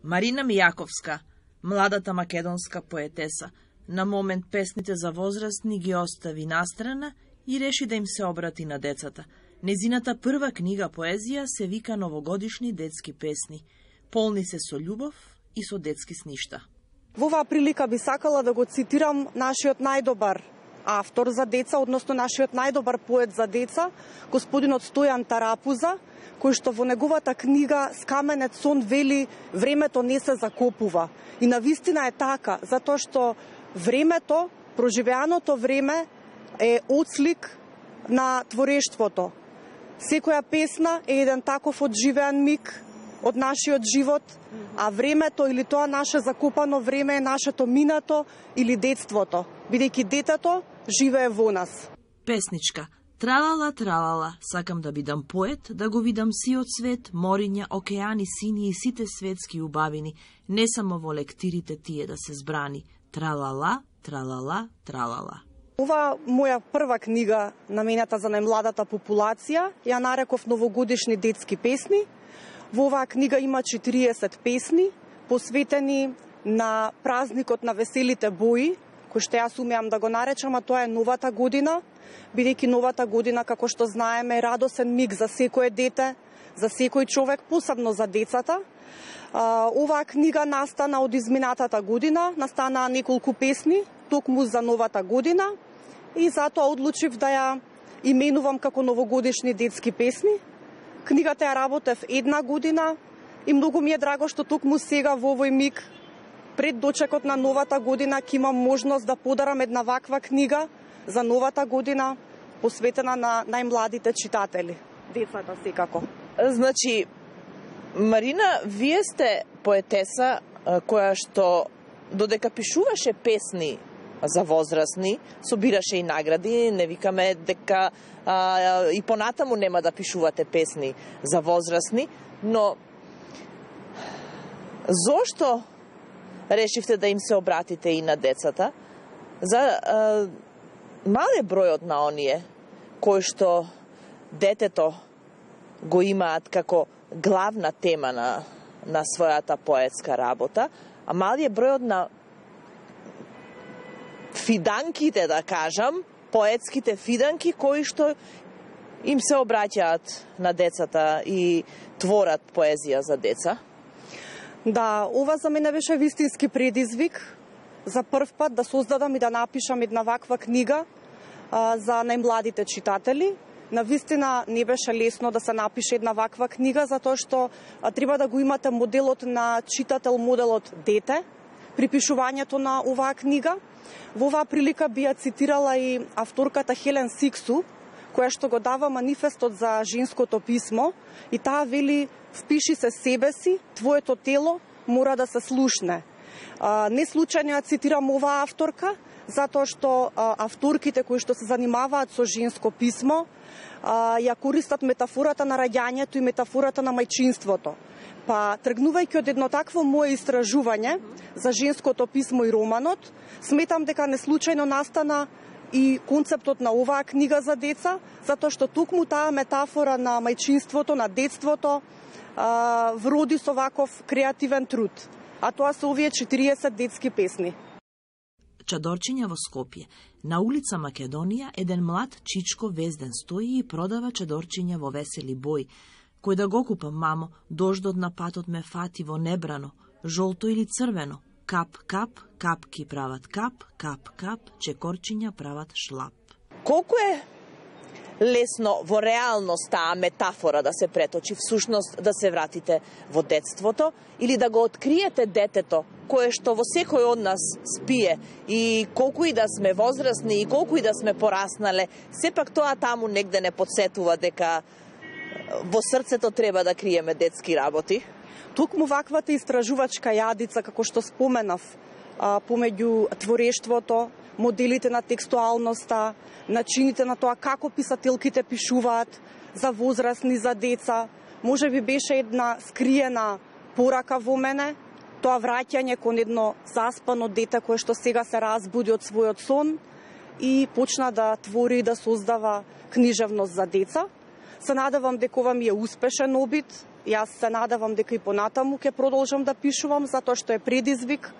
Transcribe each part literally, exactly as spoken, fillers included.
Марина Мијаковска, младата македонска поетеса, на момент песните за возрастни ги остави настрана и реши да им се обрати на децата. Незината прва книга поезија се вика Новогодишни детски песни. Полни се со љубов и со детски сништа. Во оваа прилика би сакала да го цитирам нашиот најдобар автор за деца, односно нашиот најдобар поет за деца, господинот Стојан Тарапуза, кој што во неговата книга Скаменет сон вели времето не се закопува. И навистина е така, затоа што времето, проживеаното време е отслик на творештвото. Секоја песна е еден таков одживеан миг од нашиот живот, а времето или тоа наше закопано време е нашето минато или детството, бидејќи детето живее во нас. Песничка. Тралала, тралала, сакам да бидам поет, да го видам сиот свет, мориња, океани, сини и сите светски убавини, не само во лектирите тие да се збрани. Тралала, тралала, тралала. Ова моја прва книга, намената за најмладата популација, ја нареков Новогодишни детски песни. Во оваа книга има четириесет песни, посветени на празникот на веселите бои, кој што јас умеам да го наречам, а тоа е новата година, бидејќи новата година, како што знаеме, е радосен миг за секое дете, за секој човек, посебно за децата. Оваа книга настана од изминатата година, настанаа неколку песни, токму за новата година, и затоа одлучив да ја именувам како Новогодишни детски песни. Книгата ја работев една година и многу ми е драго што токму сега во овој миг, пред дочекот на новата година, ќе имам можност да подарам една ваква книга за новата година, посветена на најмладите читатели, децата секако. Значи, Марина, вие сте поетеса која што додека пишуваше песни за возрастни, собираше и награди, не викаме дека а, и понатаму нема да пишувате песни за возрастни, но зошто решивте да им се обратите и на децата? За а, мал е бројот на оние кои што детето го имаат како главна тема на, на својата поетска работа, а мал е бројот на фиданките, да кажам, поетските фиданки кои што им се обраќаат на децата и творат поезија за деца. Да, ова за мене беше вистински предизвик за прв пат да создадам и да напишам една ваква книга а, за најмладите читатели. Навистина не беше лесно да се напише една ваква книга, затоа што а, треба да го имате моделот на читател, моделот дете при пишувањето на оваа книга. Во оваа прилика би ја цитирала и авторката Хелен Сиксу, која што го дава манифестот за женското писмо, и таа вели: впиши се себе си, твоето тело мора да се слушне. А, не случајно ја цитирам оваа авторка, затоа што а, авторките кои што се занимаваат со женско писмо а, ја користат метафората на раѓањето и метафората на мајчинството. Па, тргнувајќи од едно такво мое истражување за женското писмо и романот, сметам дека неслучајно настана и концептот на оваа книга за деца, затоа што токму таа метафора на мајчинството, на детството, а, вроди со ваков креативен труд. А тоа се овие четириесет детски песни. Чадорчиња во Скопје. На улица Македонија еден млад чичко везден стои и продава чадорчиња во весели бој. Кој да го купам, мамо, дождот на патот ме фати во небрано, жолто или црвено. Кап, кап, капки прават кап, кап, кап, чекорчиња прават шлап. Колку е лесно во реалност таа метафора да се преточи, всушност да се вратите во детството или да го откриете детето кое што во секој од нас спие, и колку и да сме возрастни и колку и да сме пораснале, сепак тоа таму негде не подсетува дека во срцето треба да криеме детски работи. Токму ваквата истражувачка јадица, како што споменав, помеѓу творештвото, моделите на текстуалноста, начините на тоа како писателките пишуваат за возрастни, за деца, може би беше една скриена порака во мене, тоа враќање кон едно заспано дете кое што сега се разбуди од својот сон и почна да твори и да создава книжевност за деца. Се надевам дека ова ми е успешен обид, Јас се надевам дека и понатаму ќе продолжам да пишувам, затоа што е предизвик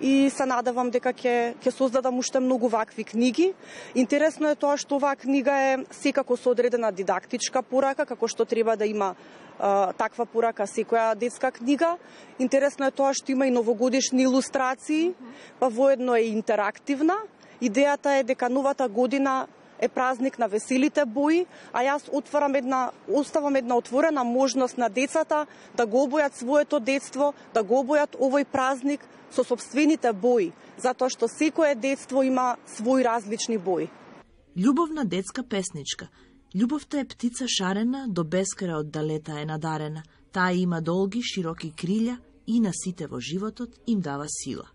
и се надевам дека ќе ќе создадам уште многу вакви книги. Интересно е тоа што оваа книга е секако со одредена дидактичка порака, како што треба да има а, таква порака секоја детска книга. Интересно е тоа што има и новогодишни илустрации, па воедно е интерактивна. Идејата е дека новата година е празник на веселите бои, а јас отварам една, оставам една отворена можност на децата да го обојат своето детство, да го обојат овој празник со собствените бои, затоа што секое детство има свои различни бои. Љубовна детска песничка. Љубовта е птица шарена, до бескрај од далета е надарена. Таа има долги, широки крилја и на сите во животот им дава сила.